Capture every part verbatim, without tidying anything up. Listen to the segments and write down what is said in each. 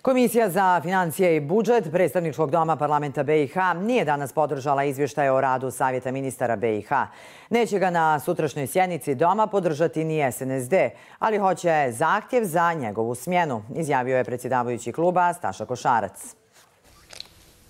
Komisija za financije i budžet Predstavničkog doma parlamenta B i H nije danas podržala izvještaj o radu Savjeta ministara B i H. Neće ga na sutrašnjoj sjednici doma podržati ni S N S D, ali hoće zahtjev za njegovu smjenu, izjavio je predsjedavajući kluba Staša Košarac.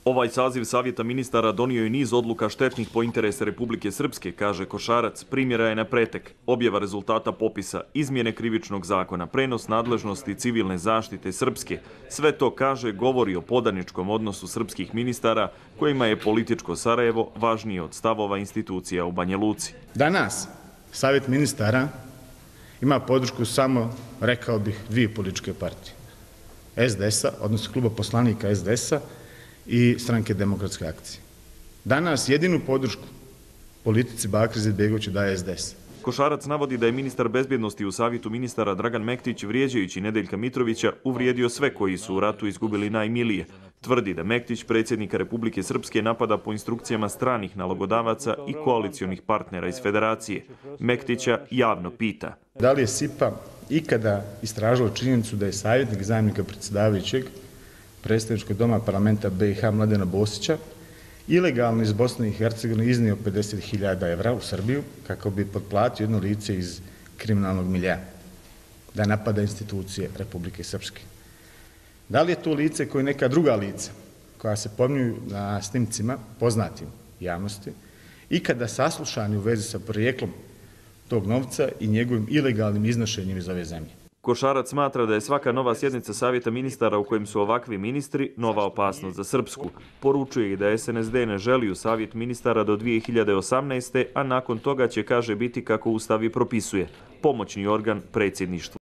Ovaj saziv Savjeta ministara donio je niz odluka štetnih po interese Republike Srpske, kaže Košarac. Primjera je na pretek, objava rezultata popisa, izmjene krivičnog zakona, prenos nadležnosti civilne zaštite Srpske. Sve to, kaže, govori o podaničkom odnosu srpskih ministara kojima je političko Sarajevo važnije od stavova institucija u Banja Luci. Danas Savjet ministara ima podršku samo, rekao bih, dvije političke partije. S D S-a, odnosno kluba poslanika S D S-a, i Stranke demokratske akcije. Danas jedinu podršku politici Bakira Izetbegovića daje S D S. Košarac navodi da je ministar bezbjednosti u Savjetu ministara Dragan Mektić, vrijeđajući Nedeljka Mitrovića, uvrijedio sve koji su u ratu izgubili najmilije. Tvrdi da Mektić predsjednika Republike Srpske napada po instrukcijama stranih nalogodavaca i koalicionih partnera iz Federacije. Mektića javno pita: Da li je S I P A ikada istražila činjenicu da je savjetnik zamjenika predsjedavajućeg Predstavničkog doma parlamenta B i H Mladena Bosića ilegalno iz Bosne i Hercegovine iznio pedeset hiljada evra u Srbiju kako bi potplatio jedno lice iz kriminalnog milja da napada institucije Republike Srpske? Da li je to lice koje neka druga lica koja se pominju na snimcima poznatim javnosti ikada saslušani u vezi sa projeklom tog novca i njegovim ilegalnim iznošenjem iz ove zemlje? Košarac smatra da je svaka nova sjednica Savjeta ministara u kojem su ovakvi ministri nova opasnost za Srpsku. Poručuje i da S N S D ne želi u Savjet ministara do dvije hiljade osamnaeste. a nakon toga će, kaže, biti kako Ustav i propisuje, pomoćni organ predsjedništvu.